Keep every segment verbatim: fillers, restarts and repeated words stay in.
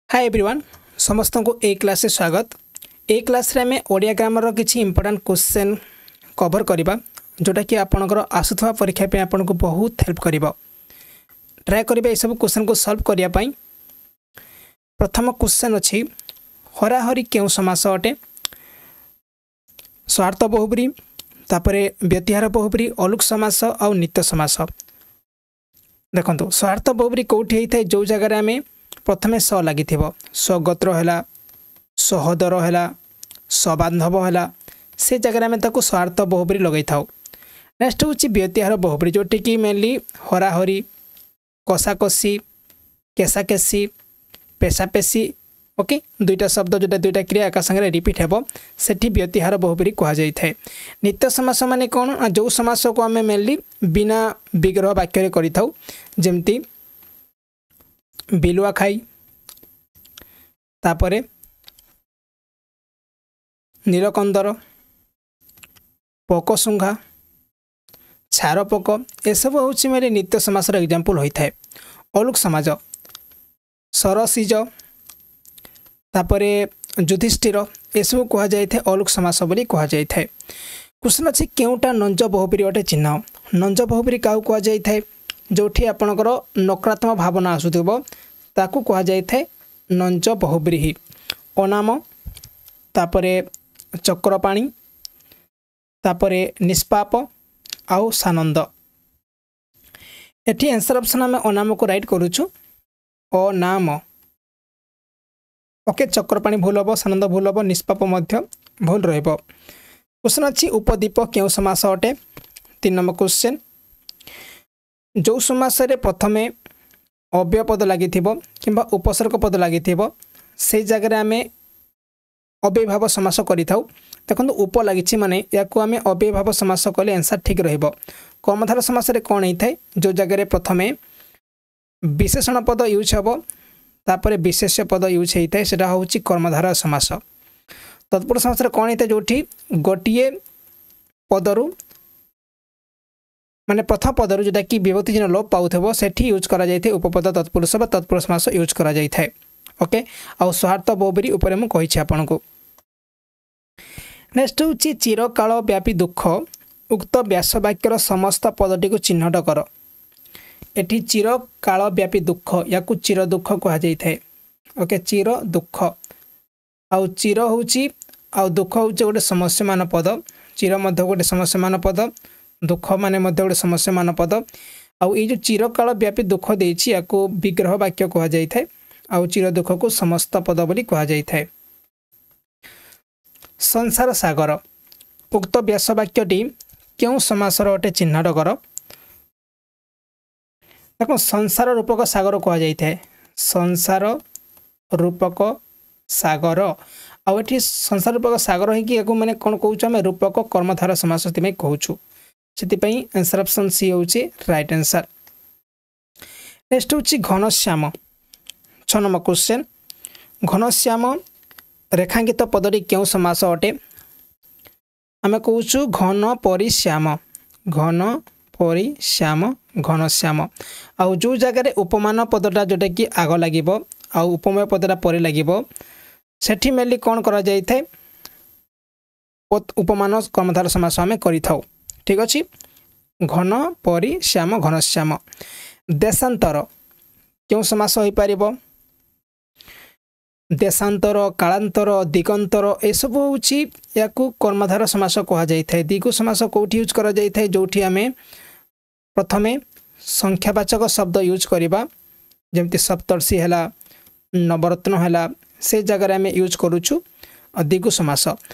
ହାଏ everyone, ସମସ୍ତଙ୍କୁ ଏଇ କ୍ଲାସ୍ରେ ସ୍ୱାଗତ। ଏଇ କ୍ଲାସ୍ରେ ଆମେ ଓଡ଼ିଆ ଗ୍ରାମରର କିଛି ଇମ୍ପୋର୍ଟାଣ୍ଟ କ୍ୱେଶ୍ଚନ୍ କଭର୍ କରିବା, ଯେଉଁଟାକି ଆପଣଙ୍କର ଆସୁଥିବା ପରୀକ୍ଷା ପାଇଁ ଆପଣଙ୍କୁ ବହୁତ ହେଲ୍ପ କରିବ। ଟ୍ରାଏ କରିବେ ଏସବୁ କ୍ୱେଶ୍ଚନ୍କୁ ସଲ୍ଭ କରିବା ପାଇଁ। ପ୍ରଥମ କ୍ୱେଶ୍ଚନ୍ ଅଛି, ହରାହରି କେଉଁ ସମାସ ଅଟେ? ସ୍ୱାର୍ଥ ବହୁବ୍ରୀହି, ତାପରେ ବ୍ୟତିହାର ବହୁବ୍ରୀହି, ଅଲୁକ ସମାସ ଆଉ ନିତ୍ୟ ସମାସ। ଦେଖନ୍ତୁ, ସ୍ୱାର୍ଥ ବହୁବ୍ରୀହି କେଉଁଠି ହେଇଥାଏ? ଯେଉଁ ଜାଗାରେ ଆମେ ପ୍ରଥମେ ସ ଲାଗିଥିବ। ସ୍ୱଗୋତ୍ର ହେଲା, ସହୋଦର ହେଲା, ସବାନ୍ଧବ ହେଲା, ସେ ଜାଗାରେ ଆମେ ତାକୁ ସ୍ୱାର୍ଥ ବହୁବ୍ରୀହି ଲଗାଇଥାଉ। ନେକ୍ସଟ ହେଉଛି ବ୍ୟତିହାର ବହୁବ୍ରୀହି, ଯେଉଁଠିକି ମେନଲି ହରାହରି, କଷାକଷି, କେଶାକେଶି, ପେଶାପେଶି, ଓକେ, ଦୁଇଟା ଶବ୍ଦ ଯେଉଁଟା ଦୁଇଟା କ୍ରିୟା ଏକା ସାଙ୍ଗରେ ରିପିଟ୍ ହେବ, ସେଠି ବ୍ୟତିହାର ବହୁବ୍ରୀହି କୁହାଯାଇଥାଏ। ନିତ୍ୟ ସମାସ ମାନେ କ'ଣ ନା ଯେଉଁ ସମାସକୁ ଆମେ ମେନଲି ବିନା ବିଗ୍ରହ ବାକ୍ୟରେ କରିଥାଉ, ଯେମିତି ବିଲୁଆ ଖାଇ, ତାପରେ ନୀଳକନ୍ଦର, ପୋକଶୁଙ୍ଘା, ଛାର ପୋକ, ଏସବୁ ହେଉଛି ମେନଲି ନିତ୍ୟ ସମାସର ଏକ୍ଜାମ୍ପଲ୍ ହୋଇଥାଏ। ଅଲୁକ ସମାଜ, ସରସିଜ, ତାପରେ ଯୁଧିଷ୍ଠିର, ଏସବୁ କୁହାଯାଇଥାଏ ଅଲୁକ ସମାସ ବୋଲି କୁହାଯାଇଥାଏ। କ୍ୱେଶ୍ଚନ୍ ଅଛି, କେଉଁଟା ନଞ୍ଜ ବହୁବ୍ରୀହି ଅଟେ ଚିହ୍ନ? ନଞ୍ଜ ବହୁବ୍ରୀହି କାହାକୁ କୁହାଯାଇଥାଏ? ଯେଉଁଠି ଆପଣଙ୍କର ନକାରାତ୍ମକ ଭାବନା ଆସୁଥିବ, ତାକୁ କୁହାଯାଇଥାଏ ନଞ୍ଜ ବହୁବ୍ରୀହି। ଅନାମ, ତାପରେ ଚକ୍ରପାଣି, ତାପରେ ନିଷ୍ପାପ ଆଉ ସାନନ୍ଦ। ଏଠି ଆନ୍ସର୍ ଅପସନ୍ ଆମେ ଅନାମକୁ ରାଇଟ୍ କରୁଛୁ, ଅନାମ। ଓକେ, ଚକ୍ରପାଣି ଭୁଲ ହେବ, ସାନନ୍ଦ ଭୁଲ ହେବ, ନିଷ୍ପାପ ମଧ୍ୟ ଭୁଲ ରହିବ। କ୍ୱେଶ୍ଚନ୍ ଅଛି, ଉପଦ୍ୱୀପ କେଉଁ ସମାସ ଅଟେ? ତିନି ନମ୍ବର କ୍ୱେଶ୍ଚନ୍, ଯେଉଁ ସମାସରେ ପ୍ରଥମେ ଅବ୍ୟୟ ପଦ ଲାଗିଥିବ କିମ୍ବା ଉପସର୍ଗ ପଦ ଲାଗିଥିବ, ସେଇ ଜାଗାରେ ଆମେ ଅବ୍ୟୟଭାବ ସମାସ କରିଥାଉ। ଦେଖନ୍ତୁ, ଉପ ଲାଗିଛି ମାନେ ୟାକୁ ଆମେ ଅବ୍ୟୟଭାବ ସମାସ କଲେ ଆନ୍ସର୍ ଠିକ୍ ରହିବ। କର୍ମଧାର ସମାସରେ କ'ଣ ହେଇଥାଏ? ଯେଉଁ ଜାଗାରେ ପ୍ରଥମେ ବିଶେଷଣ ପଦ ୟୁଜ୍ ହେବ, ତାପରେ ବିଶେଷ୍ୟ ପଦ ୟୁଜ୍ ହେଇଥାଏ, ସେଟା ହେଉଛି କର୍ମଧାର ସମାସ। ତତ୍ପୁରୁଷ ସମାସରେ କ'ଣ ହେଇଥାଏ? ଯେଉଁଠି ଗୋଟିଏ ପଦରୁ, ମାନେ ପ୍ରଥମ ପଦରୁ ଯେଉଁଟାକି ବିଭକ୍ତି ଚିହ୍ନ ଲୋପ ପାଉଥିବ, ସେଠି ୟୁଜ୍ କରାଯାଇଥାଏ ଉପପଦ ତତ୍ପୁରୁଷ ବା ତତ୍ପୁରୁଷ ସମାସ ୟୁଜ୍ କରାଯାଇଥାଏ। ଓକେ, ଆଉ ସ୍ୱାର୍ଥ ବହୁବ୍ରୀହି ଉପରେ ମୁଁ କହିଛି ଆପଣଙ୍କୁ। ନେକ୍ସଟ ହେଉଛି, ଚିରକାଳ ବ୍ୟାପୀ ଦୁଃଖ, ଉକ୍ତ ବ୍ୟାସ ବାକ୍ୟର ସମସ୍ତ ପଦଟିକୁ ଚିହ୍ନଟ କର। ଏଠି ଚିରକାଳ ବ୍ୟାପୀ ଦୁଃଖ, ୟାକୁ ଚିର ଦୁଃଖ କୁହାଯାଇଥାଏ। ଓକେ, ଚିର ଦୁଃଖ, ଆଉ ଚିର ହେଉଛି ଆଉ ଦୁଃଖ ହେଉଛି ଗୋଟେ ସମସ୍ୟମାନ ପଦ। ଚିର ମଧ୍ୟ ଗୋଟେ ସମସ୍ୟମାନ ପଦ, ଦୁଃଖ ମାନେ ମଧ୍ୟ ଗୋଟେ ସମସ୍ୟମାନ ପଦ। ଆଉ ଏଇ ଯେଉଁ ଚିରକାଳ ବ୍ୟାପୀ ଦୁଃଖ ଦେଇଛି, ୟାକୁ ବିଗ୍ରହ ବାକ୍ୟ କୁହାଯାଇଥାଏ, ଆଉ ଚିର ଦୁଃଖକୁ ସମସ୍ତ ପଦ ବୋଲି କୁହାଯାଇଥାଏ। ସଂସାର ସାଗର, ଉକ୍ତ ବ୍ୟାସ ବାକ୍ୟଟି କେଉଁ ସମାସର ଅଟେ ଚିହ୍ନଟ କର। ଦେଖ, ସଂସାର ରୂପକ ସାଗର କୁହାଯାଇଥାଏ, ସଂସାର ରୂପକ ସାଗର। ଆଉ ଏଠି ସଂସାର ରୂପକ ସାଗର ହେଇକି ୟାକୁ ମାନେ କ'ଣ କହୁଛୁ ଆମେ? ରୂପକ କର୍ମଧାର ସମାସ ସେଥିପାଇଁ କହୁଛୁ। ସେଥିପାଇଁ ଆନ୍ସର୍ ଅପସନ୍ ସି ହେଉଛି ରାଇଟ୍ ଆନ୍ସର୍। ନେକ୍ସଟ ହେଉଛି ଘନଶ୍ୟାମ, ଛଅ ନମ୍ବର କ୍ୱେଶ୍ଚନ୍, ଘନଶ୍ୟାମ ରେଖାଙ୍କିତ ପଦଟି କେଉଁ ସମାସ ଅଟେ? ଆମେ କହୁଛୁ ଘନ ପରି ଶ୍ୟାମ, ଘନ ପରି ଶ୍ୟାମ, ଘନଶ୍ୟାମ। ଆଉ ଯେଉଁ ଜାଗାରେ ଉପମାନ ପଦଟା ଯେଉଁଟାକି ଆଗ ଲାଗିବ ଆଉ ଉପମେୟ ପଦଟା ପରେ ଲାଗିବ, ସେଠି ମେନଲି କ'ଣ କରାଯାଇଥାଏ? ଉପମାନ କର୍ମଧାର ସମାସ ଆମେ କରିଥାଉ। ଠିକ୍ ଅଛି, ଘନ ପରି ଶ୍ୟାମ, ଘନଶ୍ୟାମ। ଦେଶାନ୍ତର କେଉଁ ସମାସ ହୋଇପାରିବ? ଦେଶାନ୍ତର, କାଳାନ୍ତର, ଦିଗନ୍ତର, ଏସବୁ ହେଉଛି ୟାକୁ କର୍ମଧାର ସମାସ କୁହାଯାଇଥାଏ। ଦିଗୁ ସମାସ କେଉଁଠି ୟୁଜ୍ କରାଯାଇଥାଏ? ଯେଉଁଠି ଆମେ ପ୍ରଥମେ ସଂଖ୍ୟାବାଚକ ଶବ୍ଦ ୟୁଜ୍ କରିବା, ଯେମିତି ସପ୍ତର୍ଷି ହେଲା, ନବରତ୍ନ ହେଲା, ସେ ଜାଗାରେ ଆମେ ୟୁଜ୍ କରୁଛୁ ଦିଗୁ ସମାସ।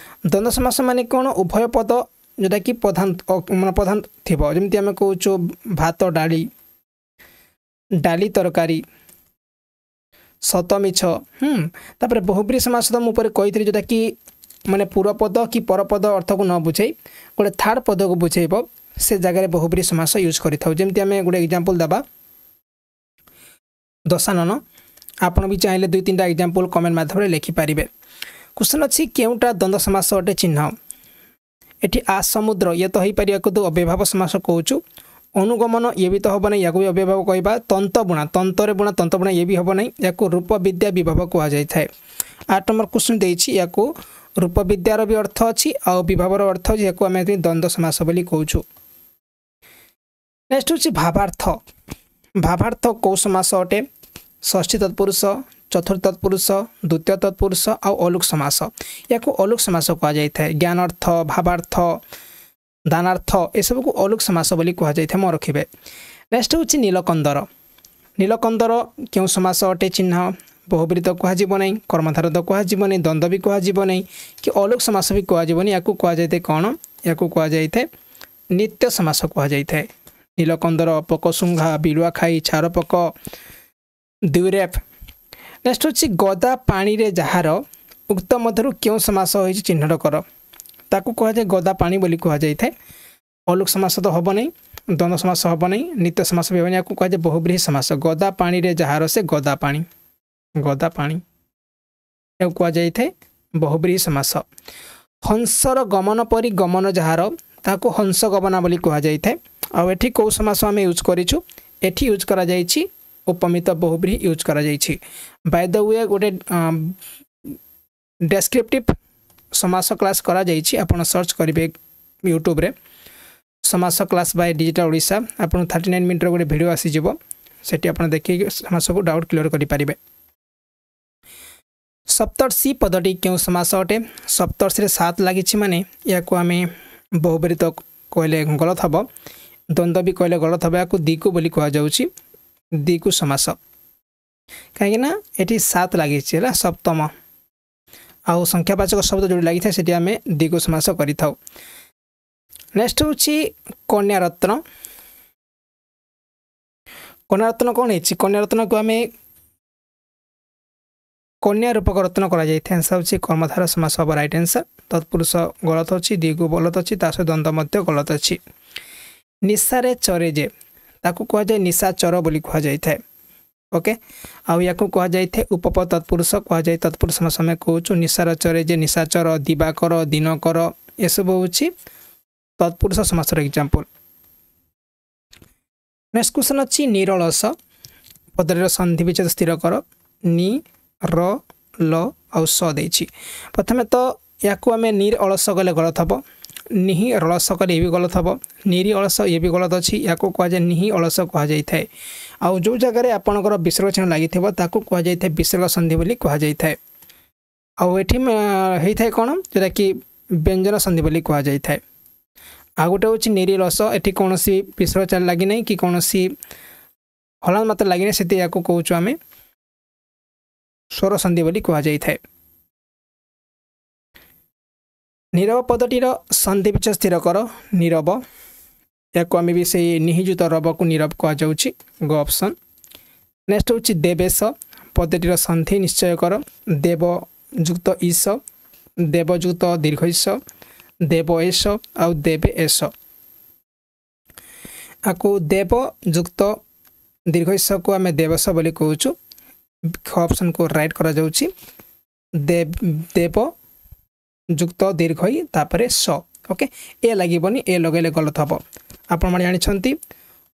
ଦ୍ୱନ୍ଦ୍ୱ ସମାସ ମାନେ କ'ଣ? ଉଭୟ ପଦ ଯେଉଁଟାକି ପ୍ରଧାନ, ମାନେ ପ୍ରଧାନ ଥିବ, ଯେମିତି ଆମେ କହୁଛୁ ଭାତ ଡାଲି, ଡାଲି ତରକାରୀ, ସତ ମିଛ। ହୁଁ ତାପରେ ବହୁବ୍ରୀହି ସମାସ ତ ମୁଁ ଉପରେ କହିଥିଲି, ଯେଉଁଟାକି ମାନେ ପୂର୍ବ ପଦ କି ପରପଦ ଅର୍ଥକୁ ନ ବୁଝେଇ ଗୋଟେ ଥାର୍ଡ଼ ପଦକୁ ବୁଝେଇବ, ସେ ଜାଗାରେ ବହୁବ୍ରୀହି ସମାସ ୟୁଜ୍ କରିଥାଉ। ଯେମିତି ଆମେ ଗୋଟେ ଏକ୍ଜାମ୍ପଲ୍ ଦେବା, ଦଶାନନ। ଆପଣ ବି ଚାହିଁଲେ ଦୁଇ ତିନିଟା ଏକ୍ଜାମ୍ପଲ୍ କମେଣ୍ଟ ମାଧ୍ୟମରେ ଲେଖିପାରିବେ। କ୍ୱେଶ୍ଚନ୍ ଅଛି, କେଉଁଟା ଦ୍ୱନ୍ଦ୍ୱ ସମାସ ଅଟେ ଚିହ୍ନ? ଏଠି ଆ ସମୁଦ୍ର, ଇଏ ତ ହେଇପାରିବାକୁ ତ ଅବ୍ୟୟଭାବ ସମାସ କହୁଛୁ। ଅନୁଗମନ ଇଏ ବି ତ ହେବ ନାହିଁ, ୟାକୁ ବି ଅବ୍ୟୟଭାବ କହିବା। ତନ୍ତ ବୁଣା, ତନ୍ତରେ ବୁଣା, ତନ୍ତ ବୁଣା ଇଏ ବି ହେବ ନାହିଁ, ୟାକୁ ରୂପ ବିଦ୍ୟା ବିଭବ କୁହାଯାଇଥାଏ। ଆଠ ନମ୍ବର କ୍ୱେଶ୍ଚନ୍ ଦେଇଛି, ୟାକୁ ରୂପ ବିଦ୍ୟାର ବି ଅର୍ଥ ଅଛି ଆଉ ବିଭବର ଅର୍ଥ ଅଛି, ୟାକୁ ଆମେ ଦ୍ୱନ୍ଦ୍ୱ ସମାସ ବୋଲି କହୁଛୁ। ନେକ୍ସଟ ହେଉଛି ଭାବାର୍ଥ। ଭାବାର୍ଥ କେଉଁ ସମାସ ଅଟେ? ଷଷ୍ଠୀ ତତ୍ପୁରୁଷ, ଚତୁର୍ଥ ତତ୍ପୁରୁଷ, ଦ୍ୱିତୀୟ ତତ୍ପୁରୁଷ ଆଉ ଅଲୁକ ସମାସ। ୟାକୁ ଅଲୁକ ସମାସ କୁହାଯାଇଥାଏ। ଜ୍ଞାନାର୍ଥ, ଭାବାର୍ଥ, ଦାନାର୍ଥ ଏସବୁକୁ ଅଲୁକ ସମାସ ବୋଲି କୁହାଯାଇଥାଏ, ମନେ ରଖିବେ। ନେକ୍ସଟ ହେଉଛି ନୀଲକନ୍ଦର। ନୀଲକନ୍ଦର କେଉଁ ସମାସ ଅଟେ ଚିହ୍ନ? ବହୁବ୍ରୀହି ତ କୁହାଯିବ ନାହିଁ, କର୍ମଧାର ତ କୁହାଯିବ ନାହିଁ, ଦ୍ୱନ୍ଦ୍ୱ ବି କୁହାଯିବ ନାହିଁ କି ଅଲୁକ ସମାସ ବି କୁହାଯିବନି। ୟାକୁ କୁହାଯାଇଥାଏ କ'ଣ? ୟାକୁ କୁହାଯାଇଥାଏ ନିତ୍ୟ ସମାସ କୁହାଯାଇଥାଏ। ନୀଲକନ୍ଦର, ପୋକଶୁଙ୍ଘା, ବିଲୁଆ ଖାଇ, ଛାରପୋକ, ଦ୍ୱିରେଫ। ନେକ୍ସଟ ହେଉଛି ଗଦା ପାଣିରେ ଯାହାର, ଉକ୍ତ ମଧ୍ୟରୁ କେଉଁ ସମାସ ହୋଇଛି ଚିହ୍ନଟ କର। ତାକୁ କୁହାଯାଏ ଗଦା ପାଣି ବୋଲି କୁହାଯାଇଥାଏ। ଅଲୁକ ସମାସ ତ ହେବ ନାହିଁ, ଦ୍ୱନ୍ଦ୍ୱ ସମାସ ହେବ ନାହିଁ, ନିତ୍ୟ ସମାସ ବି ହେବନି, ୟାକୁ କୁହାଯାଏ ବହୁବ୍ରୀହି ସମାସ। ଗଦା ପାଣିରେ ଯାହାର ସେ ଗଦା ପାଣି, ଗଦା ପାଣି ଏହାକୁ କୁହାଯାଇଥାଏ ବହୁବ୍ରୀହି ସମାସ। ହଂସର ଗମନ ପରି ଗମନ ଯାହାର, ତାହାକୁ ହଂସ ଗମନା ବୋଲି କୁହାଯାଇଥାଏ। ଆଉ ଏଠି କେଉଁ ସମାସ ଆମେ ୟୁଜ୍ କରିଛୁ? ଏଠି ୟୁଜ୍ କରାଯାଇଛି ଉପମିତ ବହୁବ୍ରୀହି ୟୁଜ୍ କରାଯାଇଛି। ବାଇ the we ଗୋଟେ ଡେସ୍କ୍ରିପ୍ଟିଭ୍ ସମାସ କ୍ଲାସ୍ କରାଯାଇଛି, ଆପଣ ସର୍ଚ୍ଚ କରିବେ ୟୁଟ୍ୟୁବରେ ସମାସ କ୍ଲାସ୍ ବାଇ ଡିଜିଟାଲ ଓଡ଼ିଶା, ଆପଣଙ୍କୁ ଥାର୍ଟି ନାଇନ୍ ମିନିଟ୍ର ଗୋଟେ ଭିଡ଼ିଓ ଆସିଯିବ, ସେଠି ଆପଣ ଦେଖିକି ସମାସକୁ ଡାଉଟ୍ କ୍ଲିୟର କରିପାରିବେ। ସପ୍ତର୍ଷି ପଦଟି କେଉଁ ସମାସ ଅଟେ? ସପ୍ତର୍ଷିରେ ସାତ ଲାଗିଛି ମାନେ ୟାକୁ ଆମେ ବହୁବ୍ରୀହି ତ କହିଲେ ଗଲତ ହେବ, ଦ୍ୱନ୍ଦ୍ୱ ବି କହିଲେ ଗଲତ ହେବ, ୟାକୁ ଦ୍ୱିଗୁ ବୋଲି କୁହାଯାଉଛି, ଦ୍ୱିଗୁ ସମାସ। କାହିଁକିନା ଏଠି ସାତ ଲାଗିଛି ହେଲା ସପ୍ତମ, ଆଉ ସଂଖ୍ୟାବାଚକ ଶବ୍ଦ ଯେଉଁଠି ଲାଗିଥାଏ ସେଠି ଆମେ ଦ୍ୱିଗୁ ସମାସ କରିଥାଉ। ନେକ୍ସଟ ହେଉଛି କନ୍ୟାରତ୍ନ। କନ୍ୟାରତ୍ନ କ'ଣ ହେଇଛି? କନ୍ୟାରତ୍ନକୁ ଆମେ କନ୍ୟା ରୂପକ ରତ୍ନ କରାଯାଇଥାଏ। ଆନ୍ସର ହେଉଛି କର୍ମଧାର ସମାସ ହେବ ରାଇଟ୍ ଆନ୍ସର। ତତ୍ପୁରୁଷ ଗଲତ ଅଛି, ଦ୍ୱିଗୁ ଗଲତ ଅଛି, ତା ସହିତ ଦ୍ୱନ୍ଦ୍ୱ ମଧ୍ୟ ଗଲତ ଅଛି। ନିଶାରେ ଚରେ ଯେ, ତାକୁ କୁହାଯାଏ ନିଶାଚର ବୋଲି କୁହାଯାଇଥାଏ। ଓକେ, ଆଉ ୟାକୁ କୁହାଯାଇଥାଏ ଉପପ ତତ୍ପୁରୁଷ କୁହାଯାଏ। ତତ୍ପୁରୁଷ ସମାସ ଆମେ କହୁଛୁ ନିଶାର ଚରେ ଯେ, ନିଶାଚର, ଦିବାକର, ଦିନକର, ଏସବୁ ହେଉଛି ତତ୍ପୁରୁଷ ସମାସର ଏକ୍ଜାମ୍ପଲ୍। ନେକ୍ସଟ କ୍ୱେଶ୍ଚନ୍ ଅଛି ନିରଳସ ପଦର ସନ୍ଧି ବିଚ୍ଛେଦ ସ୍ଥିର କର। ନି ର ଲ ଆଉ ସ ଦେଇଛି। ପ୍ରଥମେ ତ ୟାକୁ ଆମେ ନିର ଅଳସ କଲେ ଗଲତ ହେବ, ନିହି ରଳସ କଲେ ଇଏ ବି ଗଲତ ହେବ, ନିରି ଅଳସ ଇଏ ବି ଗଲତ ଅଛି, ୟାକୁ କୁହାଯାଏ ନିହି ଅଳସ କୁହାଯାଇଥାଏ। ଆଉ ଯେଉଁ ଜାଗାରେ ଆପଣଙ୍କର ବିସର୍ଗ ଚିହ୍ନ ଲାଗିଥିବ ତାକୁ କୁହାଯାଇଥାଏ ବିସର୍ଗ ସନ୍ଧି ବୋଲି କୁହାଯାଇଥାଏ। ଆଉ ଏଠି ହେଇଥାଏ କ'ଣ, ଯେଉଁଟାକି ବ୍ୟଞ୍ଜନ ସନ୍ଧି ବୋଲି କୁହାଯାଇଥାଏ। ଆଉ ଗୋଟେ ହେଉଛି ନିରି ରସ, ଏଠି କୌଣସି ବିସର୍ଗ ଚିହ୍ନ ଲାଗିନାହିଁ କି କୌଣସି ହଲାନ୍ତ ମାତ୍ରା ଲାଗିନାହିଁ, ସେଥି ୟାକୁ କହୁଛୁ ଆମେ ସ୍ୱର ସନ୍ଧି ବୋଲି କୁହାଯାଇଥାଏ। ନୀରବ ପଦଟିର ସନ୍ଧି ବିଚ୍ଛେଦ ସ୍ଥିର କର। ନୀରବ, ୟାକୁ ଆମେ ବି ସେଇ ନିହିଯୁତ ରବକୁ ନୀରବ କୁହାଯାଉଛି, ଗ ଅପସନ୍। ନେକ୍ସଟ ହେଉଛି ଦେବେଶ ପଦଟିର ସନ୍ଧି ନିଶ୍ଚୟ କର। ଦେବ ଯୁକ୍ତ ଈଶ, ଦେବଯୁକ୍ତ ଦୀର୍ଘ ଈଶ, ଦେବ ଏଶ ଆଉ ଦେବେ ଏଶ। ଆକୁ ଦେବ ଯୁକ୍ତ ଦୀର୍ଘ ଈଶକୁ ଆମେ ଦେବଶ ବୋଲି କହୁଛୁ, ଖ ଅପସନ୍କୁ ରାଇଟ୍ କରାଯାଉଛି। ଦେବ ଯୁକ୍ତ ଦୀର୍ଘ ଇ ତାପରେ ସ, ଓକେ, ଏ ଲାଗିବନି, ଏ ଲଗାଇଲେ ଗଲତ ହେବ। ଆପଣମାନେ ଜାଣିଛନ୍ତି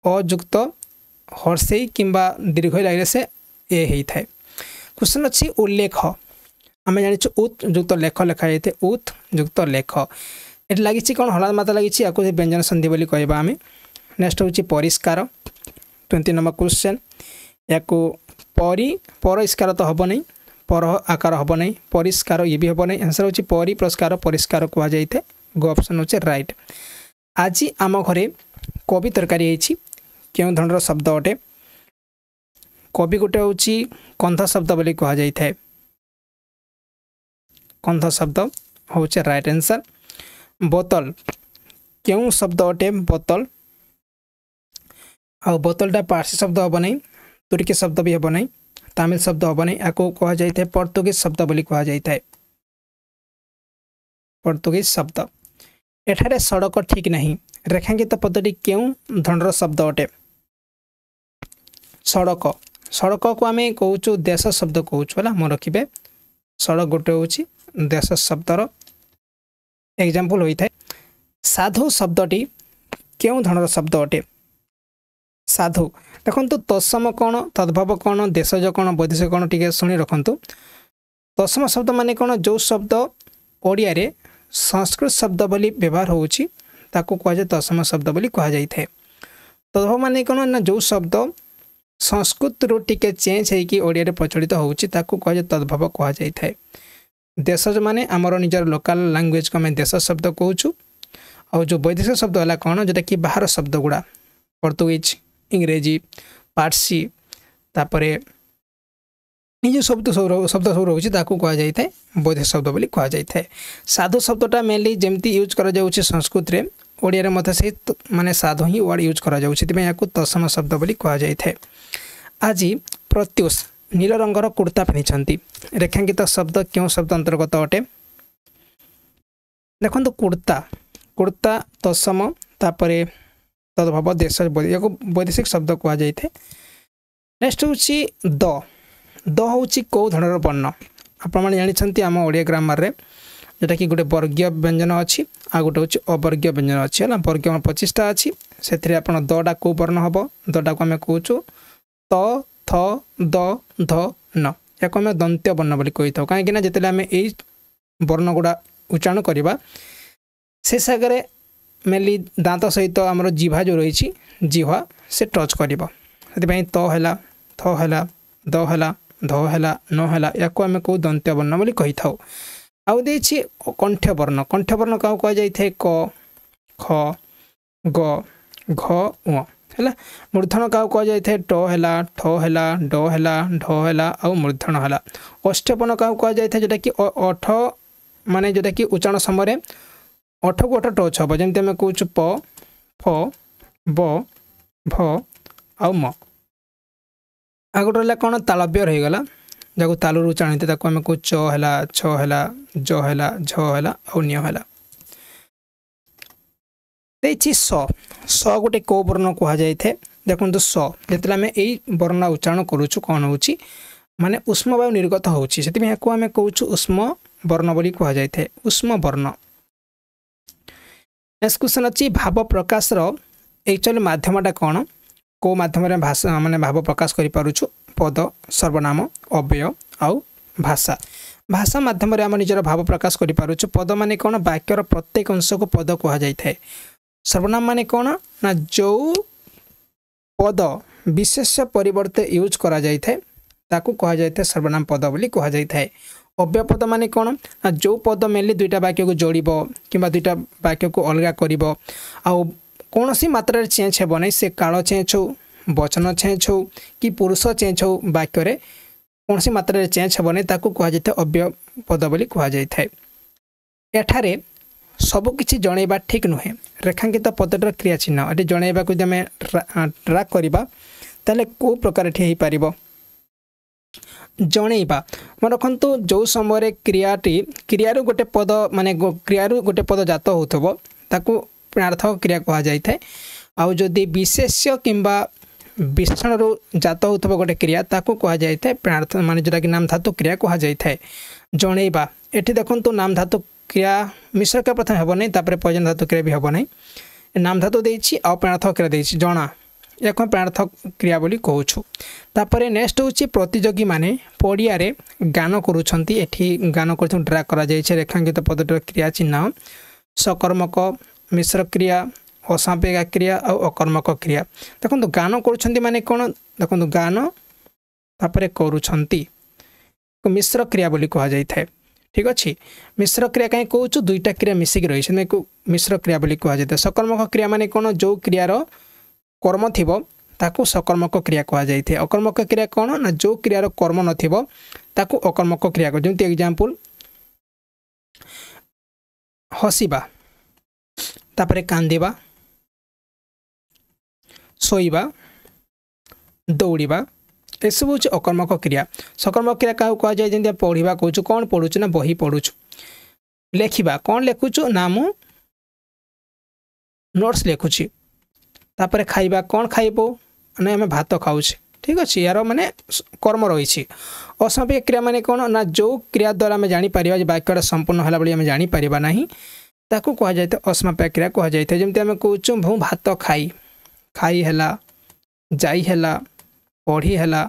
ଅଯୁକ୍ତ ହର୍ଷେଇ କିମ୍ବା ଦୀର୍ଘ ଲାଗିଲେ ସେ ଏ ହେଇଥାଏ। କ୍ୱେଶ୍ଚନ୍ ଅଛି ଉଲ୍ଲେଖ, ଆମେ ଜାଣିଛୁ ଉତ୍ ଯୁକ୍ତ ଲେଖ ଲେଖାଯାଇଥାଏ, ଉତ୍ ଯୁକ୍ତ ଲେଖ। ଏଠି ଲାଗିଛି କ'ଣ ହଳାଦ ମାତ୍ରା ଲାଗିଛି, ୟାକୁ ବ୍ୟଞ୍ଜନ ସନ୍ଧି ବୋଲି କହିବା ଆମେ। ନେକ୍ସଟ ହେଉଛି ପରିଷ୍କାର, ଟ୍ୱେଣ୍ଟି ନମ୍ବର କ୍ୱେଶ୍ଚନ୍। ୟାକୁ ପରି ପରିଷ୍କାର ତ ହେବ ନାହିଁ, ପର ଆକାର ହେବ ନାହିଁ, ପରିଷ୍କାର ଇଏ ବି ହେବ ନାହିଁ। ଆନ୍ସର ହେଉଛି ପରି ପୁରସ୍କାର ପରିଷ୍କାର କୁହାଯାଇଥାଏ, ଗ ଅପସନ୍ ହେଉଛି ରାଇଟ୍। ଆଜି ଆମ ଘରେ କୋବି ତରକାରୀ ହେଇଛି, କେଉଁ ଧରଣର ଶବ୍ଦ ଅଟେ? କୋବି ଗୋଟେ ହେଉଛି କନ୍ଧ ଶବ୍ଦ ବୋଲି କୁହାଯାଇଥାଏ, କନ୍ଧ ଶବ୍ଦ ହେଉଛି ରାଇଟ୍ ଆନ୍ସର। ବୋତଲ କେଉଁ ଶବ୍ଦ ଅଟେ? ବୋତଲ, ଆଉ ବୋତଲଟା ପାର୍ସୀ ଶବ୍ଦ ହେବ ନାହିଁ, ତୁର୍କୀ ଶବ୍ଦ ବି ହେବ ନାହିଁ, ତାମିଲ ଶବ୍ଦ ହେବ ନାହିଁ, ଆକୁ କୁହାଯାଇଥାଏ ପର୍ତ୍ତୁଗୀଜ ଶବ୍ଦ ବୋଲି କୁହାଯାଇଥାଏ, ପର୍ତ୍ତୁଗୀଜ ଶବ୍ଦ। ଏଠାରେ ସଡ଼କ ଠିକ୍ ନାହିଁ, ରେଖାଙ୍କିତ ପଦଟି କେଉଁ ଧରଣର ଶବ୍ଦ ଅଟେ? ସଡ଼କ, ସଡ଼କକୁ ଆମେ କହୁଛୁ ଦେଶ ଶବ୍ଦ କହୁଛୁ, ହେଲା ମନେ ରଖିବେ। ସଡ଼କ ଗୋଟେ ହେଉଛି ଦେଶ ଶବ୍ଦର ଏକ୍ଜାମ୍ପଲ୍ ହୋଇଥାଏ। ସାଧୁ ଶବ୍ଦଟି କେଉଁ ଧରଣର ଶବ୍ଦ ଅଟେ? ସାଧୁ ଦେଖନ୍ତୁ ତତ୍ସମ କ'ଣ ତଦ୍ଭବ କ'ଣ ଦେଶଜ କ'ଣ ବୈଦେଶିକ କ'ଣ ଟିକେ ଶୁଣି ରଖନ୍ତୁ ତତ୍ସମ ଶବ୍ଦ ମାନେ କ'ଣ ଯେଉଁ ଶବ୍ଦ ଓଡ଼ିଆରେ ସଂସ୍କୃତ ଶବ୍ଦ ବୋଲି ବ୍ୟବହାର ହେଉଛି ତାକୁ କୁହାଯାଏ ତତ୍ସମ ଶବ୍ଦ ବୋଲି କୁହାଯାଇଥାଏ ତଦ୍ଭବ ମାନେ କ'ଣ ନା ଯେଉଁ ଶବ୍ଦ ସଂସ୍କୃତରୁ ଟିକେ ଚେଞ୍ଜ ହେଇକି ଓଡ଼ିଆରେ ପ୍ରଚଳିତ ହେଉଛି ତାକୁ କୁହାଯାଏ ତଦ୍ଭବ କୁହାଯାଇଥାଏ ଦେଶଜ ମାନେ ଆମର ନିଜର ଲୋକାଲ ଲାଙ୍ଗୁଏଜକୁ ଆମେ ଦେଶ ଶବ୍ଦ କହୁଛୁ ଆଉ ଯେଉଁ ବୈଦେଶିକ ଶବ୍ଦ ହେଲା କ'ଣ ଯେଉଁଟାକି ବାହାର ଶବ୍ଦ ଗୁଡ଼ା ପର୍ତ୍ତୁଗୀଜ ଇଂରେଜୀ ପାର୍ସୀ ତାପରେ ଏଇ ଯେଉଁ ଶବ୍ଦ ସବୁ ଶବ୍ଦ ସବୁ ରହୁଛି ତାକୁ କୁହାଯାଇଥାଏ ବୈଦେଶିକ ଶବ୍ଦ ବୋଲି କୁହାଯାଇଥାଏ ସାଧୁ ଶବ୍ଦଟା ମେନଲି ଯେମିତି ୟୁଜ୍ କରାଯାଉଛି ସଂସ୍କୃତରେ ଓଡ଼ିଆରେ ମଧ୍ୟ ସେଇ ମାନେ ସାଧୁ ହିଁ ୱାର୍ଡ଼ ୟୁଜ୍ କରାଯାଉଛି ସେଥିପାଇଁ ଏହାକୁ ତତ୍ସମ ଶବ୍ଦ ବୋଲି କୁହାଯାଇଥାଏ ଆଜି ପ୍ରତ୍ୟୁଷ ନୀଳ ରଙ୍ଗର କୁର୍ତ୍ତା ପିନ୍ଧିଛନ୍ତି ରେଖାଙ୍କିତ ଶବ୍ଦ କେଉଁ ଶବ୍ଦ ଅନ୍ତର୍ଗତ ଅଟେ ଦେଖନ୍ତୁ କୁର୍ତ୍ତା କୁର୍ତ୍ତା ତତ୍ସମ ତାପରେ ତଦ୍ଭବ ଦେଶ ଏହାକୁ ବୈଦେଶିକ ଶବ୍ଦ କୁହାଯାଇଥାଏ ନେକ୍ସଟ ହେଉଛି ଦ ଦ ହେଉଛି କେଉଁ ଧରଣର ବର୍ଣ୍ଣ ଆପଣମାନେ ଜାଣିଛନ୍ତି ଆମ ଓଡ଼ିଆ ଗ୍ରାମାରରେ ଯେଉଁଟାକି ଗୋଟେ ବର୍ଗୀୟ ବ୍ୟଞ୍ଜନ ଅଛି ଆଉ ଗୋଟେ ହେଉଛି ଅବର୍ଗୀୟ ବ୍ୟଞ୍ଜନ ଅଛି ହେଲା ବର୍ଗୀୟ ପଚିଶଟା ଅଛି ସେଥିରେ ଆପଣ ଦଟା କେଉଁ ବର୍ଣ୍ଣ ହେବ ଦଟାକୁ ଆମେ କହୁଛୁ ତ ଥ ଦ ଧ ନ ଏହାକୁ ଆମେ ଦନ୍ତ୍ୟ ବର୍ଣ୍ଣ ବୋଲି କହିଥାଉ କାହିଁକିନା ଯେତେବେଳେ ଆମେ ଏଇ ବର୍ଣ୍ଣ ଗୁଡ଼ା ଉଚ୍ଚାରଣ କରିବା ସେ ଜାଗାରେ ମେନଲି ଦାନ୍ତ ସହିତ ଆମର ଜିଭା ଯେଉଁ ରହିଛି ଜିହ୍ୱା ସେ ଟଚ୍ କରିବ ସେଥିପାଇଁ ତ ହେଲା ଥ ହେଲା ଦ ହେଲା ଧ ହେଲା ନ ହେଲା ୟାକୁ ଆମେ କହୁ ଦନ୍ତ୍ୟ ବର୍ଣ୍ଣ ବୋଲି କହିଥାଉ ଆଉ ଦେଇଛି କଣ୍ଠ୍ୟ ବର୍ଣ୍ଣ କଣ୍ଠ୍ୟ ବର୍ଣ୍ଣ କାହାକୁ କୁହାଯାଇଥାଏ କ ଖ ଗ ଘ ଉଁ ହେଲା ମୂର୍ଦ୍ଧନ କାହାକୁ କୁହାଯାଇଥାଏ ଟ ହେଲା ଠ ହେଲା ଡ ହେଲା ଢ ହେଲା ଆଉ ମୂର୍ଦ୍ଧନ ହେଲା ଅଷ୍ଟପନ କାହାକୁ କୁହାଯାଇଥାଏ ଯେଉଁଟାକି ଅଠ ମାନେ ଯେଉଁଟାକି ଉଚ୍ଚାରଣ ସମୟରେ ଅଠକୁ ଅଠ ଟଚ୍ ହେବ ଯେମିତି ଆମେ କହୁଛୁ ପ ଫ ବ ଭ ଆଉ ମ ଆଉ ଗୋଟେ ରହିଲା କ'ଣ ତାଳବ୍ୟ ରହିଗଲା ଯାହାକୁ ତାଲୁରୁ ଉଚ୍ଚାରଣ ହେଇଥାଏ ତାକୁ ଆମେ କହୁ ଚ ହେଲା ଛ ହେଲା ଜ ହେଲା ଝ ହେଲା ଆଉ ନ୍ୟ ହେଲା ଦେଇଛି ସ ସ ଗୋଟେ କେଉଁ ବର୍ଣ୍ଣ କୁହାଯାଇଥାଏ ଦେଖନ୍ତୁ ସ ଯେତେବେଳେ ଆମେ ଏଇ ବର୍ଣ୍ଣ ଉଚ୍ଚାରଣ କରୁଛୁ କ'ଣ ହେଉଛି ମାନେ ଉଷ୍ମ ବାୟୁ ନିର୍ଗତ ହେଉଛି ସେଥିପାଇଁ ଏହାକୁ ଆମେ କହୁଛୁ ଉଷ୍ମ ବର୍ଣ୍ଣ ବୋଲି କୁହାଯାଇଥାଏ ଉଷ୍ମ ବର୍ଣ୍ଣ ନେକ୍ସଟ କ୍ୱେଶ୍ଚନ୍ ଅଛି ଭାବ ପ୍ରକାଶର ଆକ୍ଚୁଆଲି ମାଧ୍ୟମଟା କ'ଣ କେଉଁ ମାଧ୍ୟମରେ ଭାଷା ମାନେ ଭାବ ପ୍ରକାଶ କରିପାରୁଛୁ ପଦ ସର୍ବନାମ ଅବ୍ୟୟ ଆଉ ଭାଷା ଭାଷା ମାଧ୍ୟମରେ ଆମେ ନିଜର ଭାବ ପ୍ରକାଶ କରିପାରୁଛୁ ପଦ ମାନେ କ'ଣ ବାକ୍ୟର ପ୍ରତ୍ୟେକ ଅଂଶକୁ ପଦ କୁହାଯାଇଥାଏ ସର୍ବନାମ ମାନେ କ'ଣ ନା ଯେଉଁ ପଦ ବିଶେଷ ପରିବର୍ତ୍ତେ ୟୁଜ୍ କରାଯାଇଥାଏ ତାକୁ କୁହାଯାଇଥାଏ ସର୍ବନାମ ପଦ ବୋଲି କୁହାଯାଇଥାଏ ଅବ୍ୟୟ ପଦ ମାନେ କ'ଣ ନା ଯେଉଁ ପଦ ମେନଲି ଦୁଇଟା ବାକ୍ୟକୁ ଯୋଡ଼ିବ କିମ୍ବା ଦୁଇଟା ବାକ୍ୟକୁ ଅଲଗା କରିବ ଆଉ କୌଣସି ମାତ୍ରାରେ ଚେଞ୍ଜ ହେବ ନାହିଁ ସେ କାଳ ଚେଞ୍ଜ ହେଉ ବଚନ ଚେଞ୍ଜ ହେଉ କି ପୁରୁଷ ଚେଞ୍ଜ ହେଉ ବାକ୍ୟରେ କୌଣସି ମାତ୍ରାରେ ଚେଞ୍ଜ ହେବ ନାହିଁ ତାକୁ କୁହାଯାଇଥାଏ ଅବ୍ୟୟ ପଦ ବୋଲି କୁହାଯାଇଥାଏ ଏଠାରେ ସବୁକିଛି ଜଣାଇବା ଠିକ୍ ନୁହେଁ ରେଖାଙ୍କିତ ପଦଟିର କ୍ରିୟା ଚିହ୍ନ ଏଠି ଜଣାଇବାକୁ ଯଦି ଆମେ ଟ୍ରାକ୍ କରିବା ତାହେଲେ କେଉଁ ପ୍ରକାର ଏଠି ହେଇପାରିବ ଜଣେଇବା ମନେ ରଖନ୍ତୁ ଯେଉଁ ସମୟରେ କ୍ରିୟାଟି କ୍ରିୟାରୁ ଗୋଟେ ପଦ ମାନେ କ୍ରିୟାରୁ ଗୋଟେ ପଦ ଜାତ ହେଉଥିବ ତାକୁ ପ୍ରାର୍ଥକ କ୍ରିୟା କୁହାଯାଇଥାଏ ଆଉ ଯଦି ବିଶେଷ୍ୟ କିମ୍ବା ବିଶେଷଣରୁ ଜାତ ହେଉଥିବା ଗୋଟେ କ୍ରିୟା ତାକୁ କୁହାଯାଇଥାଏ ପ୍ରାର୍ଥ ମାନେ ଯେଉଁଟାକି ନାମ ଧାତୁ କ୍ରିୟା କୁହାଯାଇଥାଏ ଜଣେଇବା ଏଠି ଦେଖନ୍ତୁ ନାମ ଧାତୁ କ୍ରିୟା ମିଶ୍ର କ୍ରିୟା ପ୍ରଥମେ ହେବ ନାହିଁ ତାପରେ ପର୍ଯ୍ୟନ୍ତ ଧାତୁ କ୍ରିୟା ବି ହେବ ନାହିଁ ନାମ ଧାତୁ ଦେଇଛି ଆଉ ପ୍ରାର୍ଥକ କ୍ରିୟା ଦେଇଛି ଜଣା ଏହାକୁ ଆମେ ପ୍ରାର୍ଥକ କ୍ରିୟା ବୋଲି କହୁଛୁ ତାପରେ ନେକ୍ସଟ ହେଉଛି ପ୍ରତିଯୋଗୀମାନେ ପଡ଼ିଆରେ ଗାନ କରୁଛନ୍ତି ଏଠି ଗାନ କରୁଛନ୍ତି ଡ୍ରା କରାଯାଇଛି ରେଖାଙ୍କିତ ପଦଟିର କ୍ରିୟା ଚିହ୍ନ ସକର୍ମକ ମିଶ୍ର କ୍ରିୟା ଅସମାପିକା କ୍ରିୟା ଆଉ ଅକର୍ମକ କ୍ରିୟା ଦେଖନ୍ତୁ ଗାନ କରୁଛନ୍ତି ମାନେ କ'ଣ ଦେଖନ୍ତୁ ଗାନ ତାପରେ କରୁଛନ୍ତି ମିଶ୍ର କ୍ରିୟା ବୋଲି କୁହାଯାଇଥାଏ ଠିକ୍ ଅଛି ମିଶ୍ର କ୍ରିୟା କାହିଁ କହୁଛୁ ଦୁଇଟା କ୍ରିୟା ମିଶିକି ରହିଛି ମିଶ୍ର କ୍ରିୟା ବୋଲି କୁହାଯାଇଥାଏ ସକର୍ମକ କ୍ରିୟା ମାନେ କ'ଣ ଯେଉଁ କ୍ରିୟାର କର୍ମ ଥିବ ତାକୁ ସକର୍ମକ କ୍ରିୟା କୁହାଯାଇଥାଏ ଅକର୍ମକ କ୍ରିୟା କ'ଣ ନା ଯେଉଁ କ୍ରିୟାର କର୍ମ ନଥିବ ତାକୁ ଅକର୍ମକ କ୍ରିୟା ଯେମିତି ଏକ୍ଜାମ୍ପଲ୍ ହସିବା ତାପରେ କାନ୍ଦିବା ଶୋଇବା ଦୌଡ଼ିବା ଏସବୁ ହେଉଛି ଅକର୍ମକ କ୍ରିୟା ସକର୍ମକ କ୍ରିୟା କାହାକୁ କୁହାଯାଏ ଯେମିତି ପଢ଼ିବା କହୁଛୁ କ'ଣ ପଢ଼ୁଛୁ ନା ବହି ପଢ଼ୁଛୁ ଲେଖିବା କ'ଣ ଲେଖୁଛୁ ନା ମୁଁ ନୋଟ୍ସ ଲେଖୁଛି ତାପରେ ଖାଇବା କ'ଣ ଖାଇବୁ ନା ଆମେ ଭାତ ଖାଉଛେ ଠିକ୍ ଅଛି ଏହାର ମାନେ କର୍ମ ରହିଛି ଅସମାପିକା କ୍ରିୟା ମାନେ କ'ଣ ନା ଯେଉଁ କ୍ରିୟା ଦ୍ୱାରା ଆମେ ଜାଣିପାରିବା ଯେ ବାକ୍ୟଟା ସମ୍ପୂର୍ଣ୍ଣ ହେଲା ବୋଲି ଆମେ ଜାଣିପାରିବା ନାହିଁ ତାକୁ କୁହାଯାଇଥାଏ ଅସମାପିକା କ୍ରିୟା କୁହାଯାଇଥାଏ ଯେମିତି ଆମେ କହୁଛୁ ମୁଁ ଭାତ ଖାଇ ଖାଇ ହେଲା ଯାଇ ହେଲା, ପଢ଼ି ହେଲା,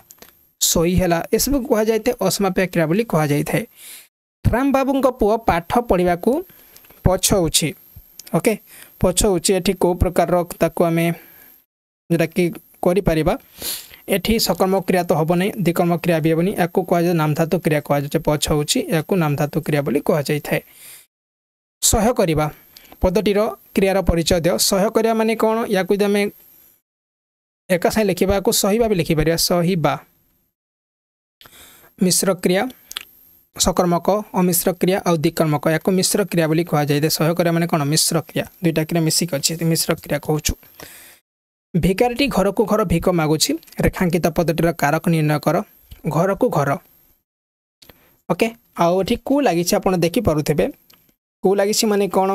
ଶୋଇ ହେଲା, ଏସବୁ କୁହାଯାଇଥାଏ ଅସମାପିକା କ୍ରିୟା ବୋଲି କୁହାଯାଇଥାଏ। ରାମବାବୁଙ୍କ ପୁଅ ପାଠ ପଢ଼ିବାକୁ ପଛଉଛି। ଓକେ, ପଛଉଛି, ଏଠି କେଉଁ ପ୍ରକାରର ତାକୁ ଆମେ ଯେଉଁଟାକି କରିପାରିବା? ଏଠି ସକର୍ମ କ୍ରିୟା ତ ହେବ ନାହିଁ, ଦ୍ୱିକର୍ମ କ୍ରିୟା ବି ହେବନି। ୟାକୁ କୁହାଯାଏ ନାମଧାତୁ କ୍ରିୟା କୁହାଯାଉଛି। ପଛଉଛି, ଏହାକୁ ନାମଧାତୁ କ୍ରିୟା ବୋଲି କୁହାଯାଇଥାଏ। ସହ୍ୟ କରିବା ପଦଟିର କ୍ରିୟାର ପରିଚୟ ଦିଅ। ସହ୍ୟ କରିବା ମାନେ କ'ଣ? ୟାକୁ ଯଦି ଆମେ ଏକା ସାଙ୍ଗେ ଲେଖିବା, ୟାକୁ ସହିବା ବି ଲେଖିପାରିବା। ସହିବା ମିଶ୍ର କ୍ରିୟା, ସକର୍ମକ, ଅମିଶ୍ର କ୍ରିୟା ଆଉ ଦ୍ୱିକର୍ମକ। ୟାକୁ ମିଶ୍ର କ୍ରିୟା ବୋଲି କୁହାଯାଇଥାଏ। ସହ୍ୟ କରିବା ମାନେ କ'ଣ? ମିଶ୍ର କ୍ରିୟା, ଦୁଇଟା କ୍ରିୟା ମିଶିକି ଅଛି, ମିଶ୍ର କ୍ରିୟା କହୁଛୁ। ଭିକାରୀଟି ଘରକୁ ଘର ଭିକ ମାଗୁଛି। ରେଖାଙ୍କିତ ପଦଟିର କାରକ ନିର୍ଣ୍ଣୟ କର। ଘରକୁ ଘର, ଓକେ, ଆଉ ଏଠି କୁ ଲାଗିଛି, ଆପଣ ଦେଖିପାରୁଥିବେ କୁ ଲାଗିଛି ମାନେ କ'ଣ?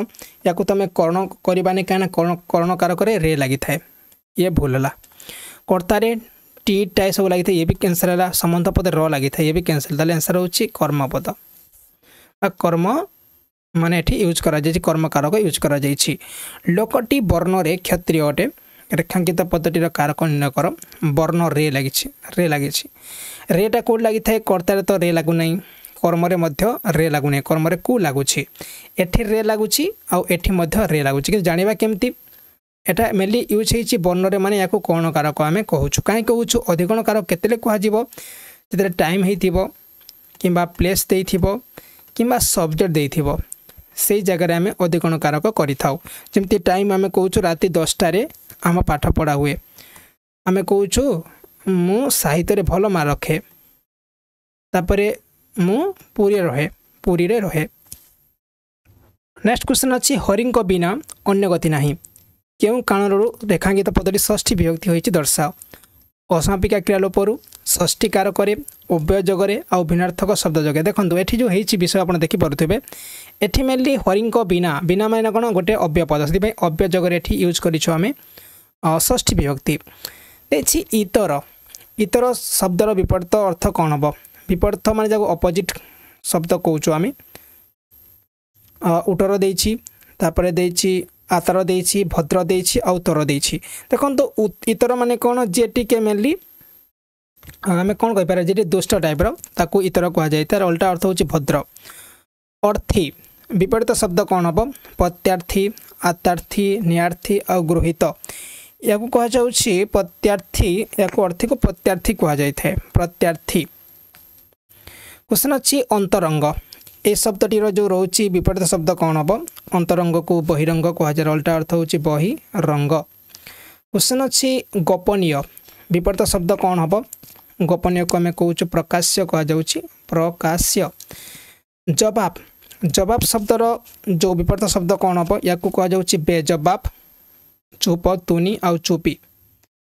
ୟାକୁ ତମେ କରଣ କରିବାନି, କାହିଁକିନା କରଣ କରଣ କାରକରେ ରେ ଲାଗିଥାଏ, ଇଏ ଭୁଲ ହେଲା। କର୍ତ୍ତାରେ ଟି ଟା ଏସବୁ ଲାଗିଥାଏ, ଇଏ ବି କ୍ୟାନସଲ୍ ହେଲା। ସମ୍ବନ୍ଧ ପଦରେ ର ଲାଗିଥାଏ, ଇଏ ବି କ୍ୟାନସଲ୍। ତାହେଲେ ଆନ୍ସର୍ ହେଉଛି କର୍ମପଦ ବା କର୍ମ ମାନେ ଏଠି ୟୁଜ୍ କରାଯାଇଛି, କର୍ମକାରକ ୟୁଜ୍ କରାଯାଇଛି। ଲୋକଟି ବର୍ଣ୍ଣରେ କ୍ଷତ୍ରିୟ ଅଟେ। ରେଖାଙ୍କିତ ପଦଟିର କାରକ ନିର୍ଣ୍ଣୟ କର। ବର୍ଣ୍ଣ ରେ ଲାଗିଛି, ରେ ଲାଗିଛି। ରେଟା କେଉଁଠି ଲାଗିଥାଏ? କର୍ତ୍ତାରେ ତ ରେ ଲାଗୁନାହିଁ, କର୍ମରେ ମଧ୍ୟ ରେ ଲାଗୁନାହିଁ, କର୍ମରେ କୁ ଲାଗୁଛି। ଏଠି ରେ ଲାଗୁଛି ଆଉ ଏଠି ମଧ୍ୟ ରେ ଲାଗୁଛି, କିନ୍ତୁ ଜାଣିବା କେମିତି? ଏଟା ମେନଲି ୟୁଜ୍ ହେଇଛି ବର୍ଣ୍ଣରେ, ମାନେ ୟାକୁ କ'ଣ କାରକ ଆମେ କହୁଛୁ। କାହିଁ କହୁଛୁ? ଅଧିକରଣ କାରକ କେତେବେଳେ କୁହାଯିବ? ଯେତେବେଳେ ଟାଇମ୍ ହେଇଥିବ କିମ୍ବା ପ୍ଲେସ୍ ଦେଇଥିବ କିମ୍ବା ସବଜେକ୍ଟ ଦେଇଥିବ, ସେଇ ଜାଗାରେ ଆମେ ଅଧିକରଣ କାରକ କରିଥାଉ। ଯେମିତି ଟାଇମ୍ ଆମେ କହୁଛୁ ରାତି ଦଶଟାରେ ଆମ ପାଠ ପଢ଼ା ହୁଏ, ଆମେ କହୁଛୁ ମୁଁ ସାହିତ୍ୟରେ ଭଲ ମାର୍କ ରଖେ, ତାପରେ ମୁଁ ପୁରୀରେ ରହେ, ପୁରୀରେ ରହେ। ନେକ୍ସଟ କ୍ୱେଶ୍ଚନ୍ ଅଛି, ହରିଙ୍କ ବିନା ଅନ୍ୟ ଗତି ନାହିଁ। କେଉଁ କାରଣରୁ ରେଖାଙ୍କିତ ପଦଟି ଷଷ୍ଠୀ ବିଭକ୍ତି ହୋଇଛି ଦର୍ଶାଅ। ଅସମାପିକା କ୍ରିୟାଲୋପରୁ, ଷଷ୍ଠୀ କାରକରେ, ଅବ୍ୟୟ ଯୋଗରେ ଆଉ ଭିନ୍ନାର୍ଥକ ଶବ୍ଦ ଯୋଗେ। ଦେଖନ୍ତୁ, ଏଠି ଯେଉଁ ହେଇଛି ବିଷୟ ଆପଣ ଦେଖିପାରୁଥିବେ। ଏଠି ମେନଲି ହରିଙ୍କ ବିନା, ବିନା ମାନେ କ'ଣ? ଗୋଟେ ଅବ୍ୟୟ ପଦ, ସେଥିପାଇଁ ଅବ୍ୟୟ ଯୋଗରେ ଏଠି ୟୁଜ୍ କରିଛୁ ଆମେ ଷଷ୍ଠୀ ବିଭକ୍ତି। ଦେଇଛି ଇତର, ଇତର ଶବ୍ଦର ବିପରୀତ ଅର୍ଥ କ'ଣ ହେବ? ବିପରୀତ ମାନେ ଯାକୁ ଅପୋଜିଟ୍ ଶବ୍ଦ କହୁଛୁ ଆମେ। ଉଟର ଦେଇଛି, ତାପରେ ଦେଇଛି ଆତର ଦେଇଛି, ଭଦ୍ର ଦେଇଛି ଆଉ ତର ଦେଇଛି। ଦେଖନ୍ତୁ, ଇତର ମାନେ କ'ଣ? ଯିଏ ଟିକେ ମେନଲି ଆମେ କ'ଣ କହିପାରିବା, ଯିଏ ଦୁଷ୍ଟ ଟାଇପ୍ର ତାକୁ ଇତର କୁହାଯାଏ, ତାର ଅଲଟା ଅର୍ଥ ହେଉଛି ଭଦ୍ର। ଅର୍ଥୀ ବିପରୀତ ଶବ୍ଦ କ'ଣ ହେବ? ପ୍ରତ୍ୟାର୍ଥୀ, ଆତ୍ୟାର୍ଥୀ, ନିୟାର୍ଥୀ ଆଉ ଗୃହୀତ। ଏହାକୁ କୁହାଯାଉଛି ପ୍ରତ୍ୟାର୍ଥୀ, ଏହାକୁ ଅର୍ଥୀକୁ ପ୍ରତ୍ୟାର୍ଥୀ କୁହାଯାଇଥାଏ, ପ୍ରତ୍ୟାର୍ଥୀ। କ୍ୱେଶ୍ଚନ୍ ଅଛି ଅନ୍ତରଙ୍ଗ, ଏ ଶବ୍ଦଟିର ଯେଉଁ ରହୁଛି ବିପରୀତ ଶବ୍ଦ କ'ଣ ହେବ? ଅନ୍ତରଙ୍ଗକୁ ବହିରଙ୍ଗ କୁହାଯାଏ, ଅଲଟା ଅର୍ଥ ହେଉଛି ବହିରଙ୍ଗ। କ୍ୱେଶ୍ଚନ୍ ଅଛି ଗୋପନୀୟ ବିପରୀତ ଶବ୍ଦ କ'ଣ ହେବ? ଗୋପନୀୟକୁ ଆମେ କହୁଛୁ ପ୍ରକାଶ୍ୟ କୁହାଯାଉଛି, ପ୍ରକାଶ୍ୟ। ଜବାବ, ଜବାବ ଶବ୍ଦର ଯେଉଁ ବିପରୀତ ଶବ୍ଦ କ'ଣ ହେବ? ୟାକୁ କୁହାଯାଉଛି ବେଜବାବ, ଚୁପ, ତୁନି ଆଉ ଚୁପି,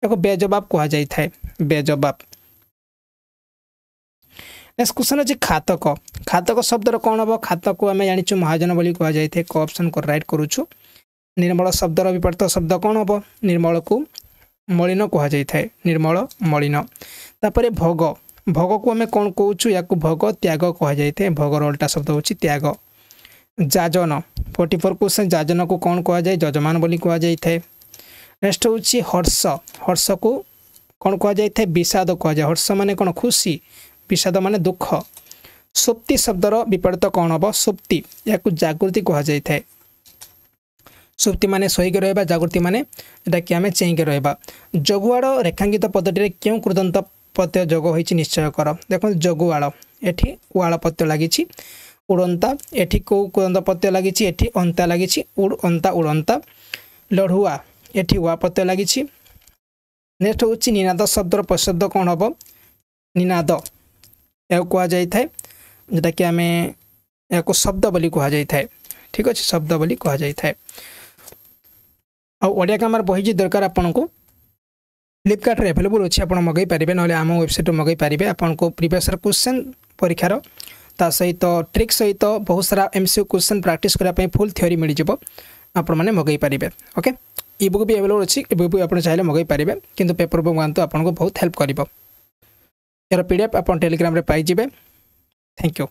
ୟାକୁ ବେଜବାବ କୁହାଯାଇଥାଏ, ବେଜବାବ। ନେକ୍ସଟ କ୍ୱେଶ୍ଚନ୍ ଅଛି ଖାତକ, ଖାତକ ଶବ୍ଦର କ'ଣ ହେବ? ଖାତକୁ ଆମେ ଜାଣିଛୁ ମହାଜନ ବୋଲି କୁହାଯାଇଥାଏ, କ ଅପସନ୍ ରାଇଟ୍ କରୁଛୁ। ନିର୍ମଳ ଶବ୍ଦର ବିପରୀତ ଶବ୍ଦ କ'ଣ ହେବ? ନିର୍ମଳକୁ ମଳିନ କୁହାଯାଇଥାଏ, ନିର୍ମଳ, ମଳିନ। ତାପରେ ଭୋଗ, ଭୋଗକୁ ଆମେ କ'ଣ କହୁଛୁ? ୟାକୁ ଭୋଗ ତ୍ୟାଗ କୁହାଯାଇଥାଏ, ଭୋଗର ଅଲଟା ଶବ୍ଦ ହେଉଛି ତ୍ୟାଗ। ଯାଜନ, ଫୋର୍ଟି ଫୋର୍ କ୍ୱେଶ୍ଚନ୍, ଯାଜନକୁ କ'ଣ କୁହାଯାଏ? ଯଜମାନ ବୋଲି କୁହାଯାଇଥାଏ। ନେକ୍ସଟ ହେଉଛି ହର୍ଷ, ହର୍ଷକୁ କ'ଣ କୁହାଯାଇଥାଏ? ବିଷାଦ କୁହାଯାଏ। ହର୍ଷ ମାନେ କ'ଣ? ଖୁସି, ବିଷାଦ ମାନେ ଦୁଃଖ। ସୁପ୍ତି ଶବ୍ଦର ବିପରୀତ କ'ଣ ହେବ? ସୁପ୍ତି, ଏହାକୁ ଜାଗୃତି କୁହାଯାଇଥାଏ। ସୁପ୍ତି ମାନେ ଶୋଇକି ରହିବା, ଜାଗୃତି ମାନେ ଏଟାକି ଆମେ ଚେଇଁକି ରହିବା। ଜଗୁଆଳ ରେଖାଙ୍କିତ ପଦଟିରେ କେଉଁ କୃଦନ୍ତ ପ୍ରତ୍ୟୟ ଯୋଗ ହୋଇଛି ନିଶ୍ଚୟ କର। ଦେଖନ୍ତୁ, ଜଗୁଆଳ, ଏଠି ୱାଳ ପ୍ରତ୍ୟୟ ଲାଗିଛି। ଉଡ଼ନ୍ତା, ଏଠି କେଉଁ କୃଦନ୍ତ ପ୍ରତ୍ୟୟ ଲାଗିଛି? ଏଠି ଅନ୍ତା ଲାଗିଛି, ଉଡ଼ ଅନ୍ତା, ଉଡ଼ନ୍ତା। ଲଢ଼ୁଆ, ଏଠି ୱା ପ୍ରତ୍ୟୟ ଲାଗିଛି। ନେକ୍ସଟ ହେଉଛି ନିନାଦ ଶବ୍ଦର ପ୍ରତିଶବ୍ଦ କ'ଣ ହେବ? ନିନାଦ ଏହାକୁ କୁହାଯାଇଥାଏ, ଯେଉଁଟାକି ଆମେ ଏହାକୁ ଶବ୍ଦ ବୋଲି କୁହାଯାଇଥାଏ। ଠିକ୍ ଅଛି, ଶବ୍ଦ ବୋଲି କୁହାଯାଇଥାଏ। ଆଉ ଓଡ଼ିଆ ଗ୍ରାମାର ବହି ଯଦି ଦରକାର ଆପଣଙ୍କୁ, ଫ୍ଲିପକାର୍ଟରେ ଆଭେଲେବୁଲ୍ ଅଛି, ଆପଣ ମଗାଇ ପାରିବେ, ନହେଲେ ଆମ ୱେବସାଇଟ୍ରୁ ମଗାଇ ପାରିବେ। ଆପଣଙ୍କୁ ପ୍ରିଭିୟସ୍ କ୍ୱେଶ୍ଚନ୍ ପରୀକ୍ଷାର ତା ସହିତ ଟ୍ରିକ୍ ସହିତ ବହୁତ ସାରା M C question practice କରିବା ପାଇଁ ଫୁଲ୍ ଥିଓରି ମିଳିଯିବ, ଆପଣମାନେ ମଗାଇ ପାରିବେ। ଓକେ, ଇ ବୁକ୍ ବି ଆଭେଲେବୁଲ୍ ଅଛି, ଇ ବୁକ୍ ବି ଆପଣ ଚାହିଁଲେ ମଗାଇ ପାରିବେ, କିନ୍ତୁ ପେପର୍ ବୁକ୍ ମଗାନ୍ତୁ, ଆପଣଙ୍କୁ ବହୁତ ହେଲ୍ପ କରିବ। ଏହାର ପି ଡି ଏଫ୍ ଆପଣ ଟେଲିଗ୍ରାମରେ ପାଇଯିବେ। Thank you.